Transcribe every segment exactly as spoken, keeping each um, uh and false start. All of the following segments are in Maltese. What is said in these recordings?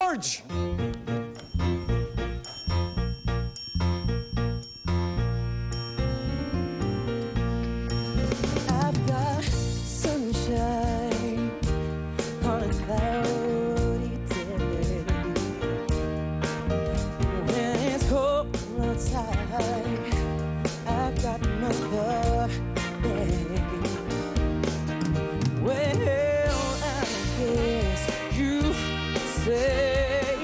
George! I've got sunshine on a cloudy day. When it's cold outside, I've got my love, babe. Well, I guess you say,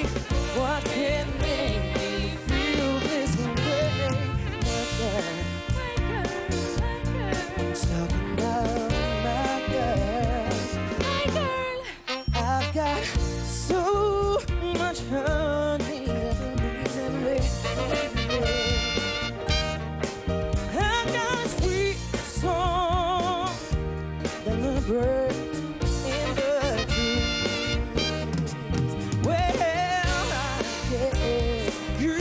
what can make me feel this way? My girl. Talking about my girl. My girl. I've got so much honey that the bees every day. I've got a sweet song that the birds in the trees. Well, I guess you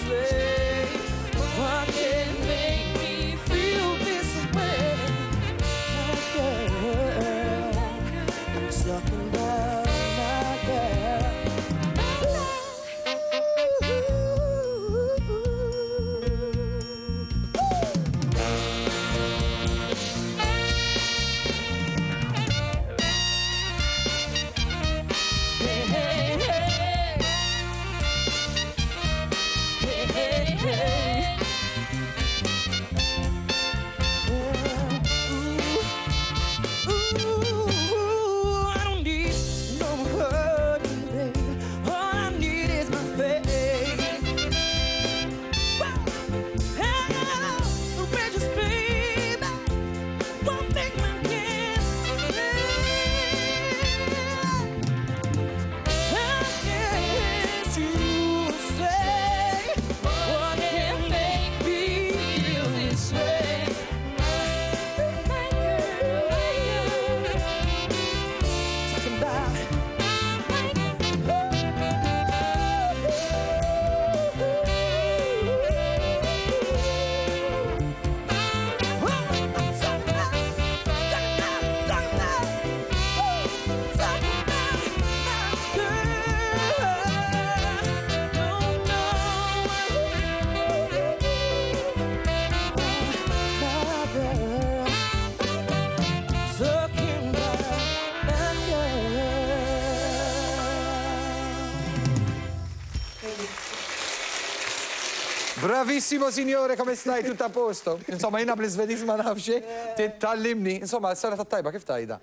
say, what can make me feel this way? My girl, I'm talking about my girl. Hey, hey, hey. Hey, hey, hey. Ooh, I don't need no honey, babe. All I need is my faith. Hello, the richest baby won't make my kiss. I guess you say, what can make me feel this way? My girl, my girl. Talking about My girl. Talking about my girl. Bravissimo signore, come stai? Tutto a posto? Insomma, jiena bl-Iżvediż ma nafx, tgħallimni. Insomma, s-sena tajba kif tgħidha?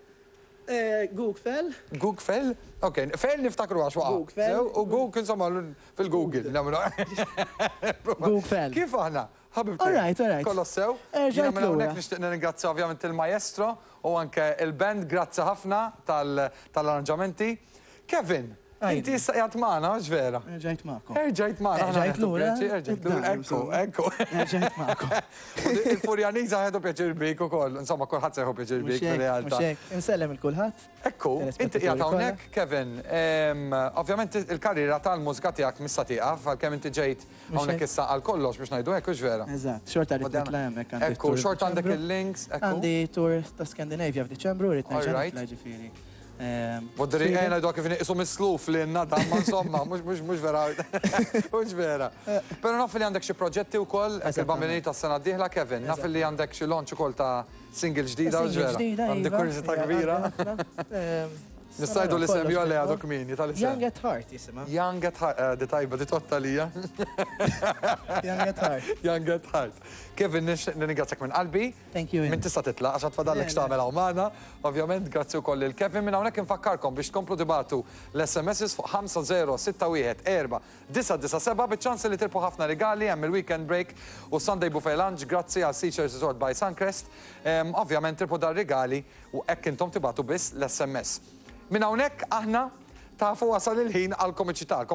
God kväll. God kväll? Ok, fell niftakru għax waqa. God kväll. U Gug, insomma, fil-Google. nagħmlu. God kväll. Kif aħna? Ħabibti. All right, all right. Kollox sew. Erġajt Jiena minn hawnhekk lura. nixtieq nirringrazzja ovvjament il-maestro u anke il-band, grazzi ħafna tal- tal-arranġamenti. Kevin, Ajde. inti issa qiegħed magħna, mhux vera? Erġajt magħkom. Erġajt magħna. aħna Erġajt nieħdu lura. pjaċir, Erġajt lura, Id-dar, ekku, insomma. ekku. Erġajt magħkom. Il-Furjaniża ħedu pjaċir bik ukoll, insomma, kulħadd se jieħu pjaċir bik fir-realtà. Mhux hekk. Insellem lil kulħadd. Ekku, inti qiegħed Telespettaturi hawnhekk, Kevin, em, ovvjament il-karriera tal-mużika tiegħek missa tieqaf, għalkemm inti ġejt hawnhekk hekk. issa għal kollox biex ngħidu hekk, hux vera? Eżatt, xorta rrid nitla' hemmhekk għandi Ekku, tour xorta għandek f'Diċembru. il-links, ekku. Għandi tour ta' Scandinavia f'Diċembru, rrid nerġa' All right. nitla' ġifieri. Ehm, Vodri Sweden. ejna ngħidu kif isu misluf li nada, ma insomma, mhux mhux mhux vera. Mhux vera. Però naf li għandek xi proġetti wkoll, hekk il-bambini tas-sena d-dieħla, Kevin, naf li għandek xi launch ukoll ta' single ġdida, hux Single vera? ġdida, Għandi iva. kurżità Ija, kbira. għandi ħafna. Ehm, Nista' ngħidu l-isem kollox jew le għadu bil-mod. kmieni tal-isem. Young at Heart jisimha. Young at Heart, eh, di tajba, di totta lija. Young at Heart. Young at Heart. Kevin, nixtieq nirringrazzjak minn qalbi. Thank you. Min tista' titlaq għax tfadallek Le, le. x'tagħmel hawn magħna. Ovvjament, grazzi wkoll lil Kevin. Minn hawnhekk infakkarkom biex tkomplu tibagħtu l-S M Ss fuq ħamsa żero sitta wieħed erba' disgħa disgħa seba' biċ-ċans li tirbħu ħafna rigali. Hemm il-weekend break u Sunday Buffet Lunch grazzi għal Seashore Resort by Suncrest. Em, Ovvjament tirbħu dar rigali u hekk intom tibagħtu biss l-S M S. Minn hawnhekk aħna tafu wasal il-ħin għal komiċità.